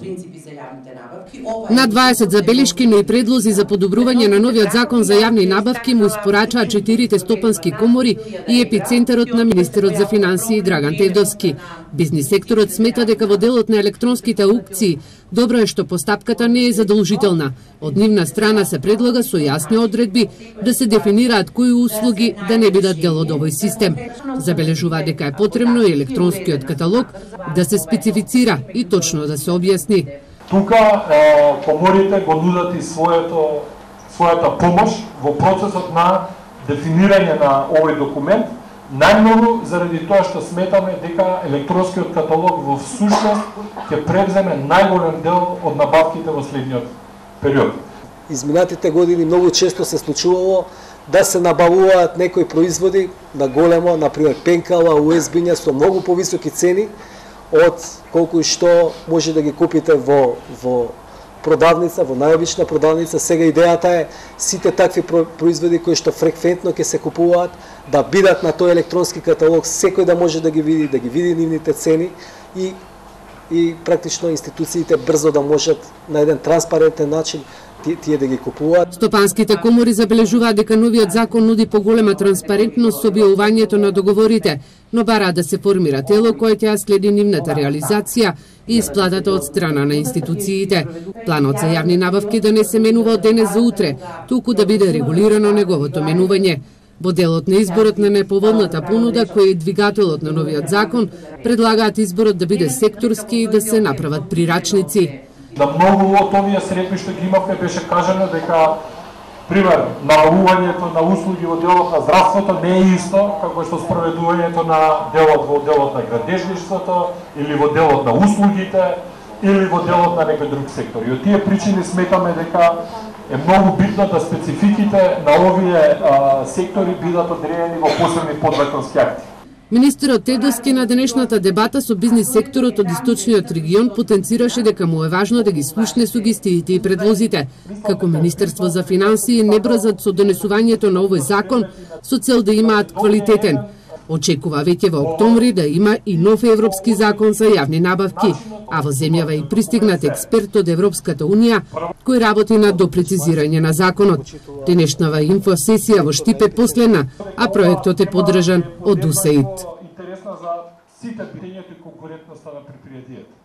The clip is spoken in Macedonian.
принципи за јавните набавки. На 20 забелешки, но и предлози за подобрување на новиот закон за јавни набавки му испорачаат 4 стопански комори и епицентарот на министерот за финансии Драган Тевдовски. Бизнис секторот смета дека во делот на електронските аукции добро е што постапката не е задолжителна. Од нивна страна се предлага со јасни одредби да се дефинираат кои услуги да не бидат дел од овој систем. Забележува дека е потребно и електронскиот каталог да се специфицира и точно да се објасни. Тука коморите го нудат и својата помош во процесот на дефинирање на овој документ, најмногу заради тоа што сметаме дека електронскиот каталог во всушност ќе превземе најголем дел од набавките во следниот период. Изминатите години многу често се случувало да се набавуваат некои производи на големо, например пенкала, USB-ња со многу повисоки цени од колку и што може да ги купите во продавница, во најобична продавница. Сега идејата е сите такви производи кои што фреквентно ќе се купуваат да бидат на тој електронски каталог, секој да може да ги види нивните цени и практично институциите брзо да можат на еден транспарентен начин тие да ги купуваат. Стопанските комори забележуваат дека новиот закон нуди поголема транспарентност со објавувањето на договорите, но бараат да се формира тело кое ќе следи нивната реализација и исплатата од страна на институциите. Планот за јавни набавки да не се менува од денес за утре, туку да биде регулирано неговото менување. Во делот на изборот на неповолната понуда, кој е двигателот на новиот закон, предлагаат изборот да биде секторски и да се направат прирачници. На многу од овие средби што ги имавме беше кажано дека, пример, набавувањето на услуги во делот на здравството не е исто како што спроведувањето на во делот на градежништвото или во делот на услугите или во делот на некој друг сектор. И од тие причини сметаме дека е многу битно да спецификите на овие сектори бидат одредени во посебни подзаконски акти. Министерот Тевдовски на денешната дебата со бизнис секторот од источниот регион потенцираше дека му е важно да ги слушне сугестиите и предлозите. Како Министерство за финансии не брзат со донесувањето на овој закон со цел да имаат квалитетен. Очекува веќе во октомври да има и нов европски закон за јавни набавки, а во земјава и пристигнат експерт од Европската Унија кој работи на допрецизирање на законот. Денешнава инфосесија во Штип е последна, а проектот е поддржан од УСАИД. Интересна за сите питањето и конкурентноста на предпријатијата.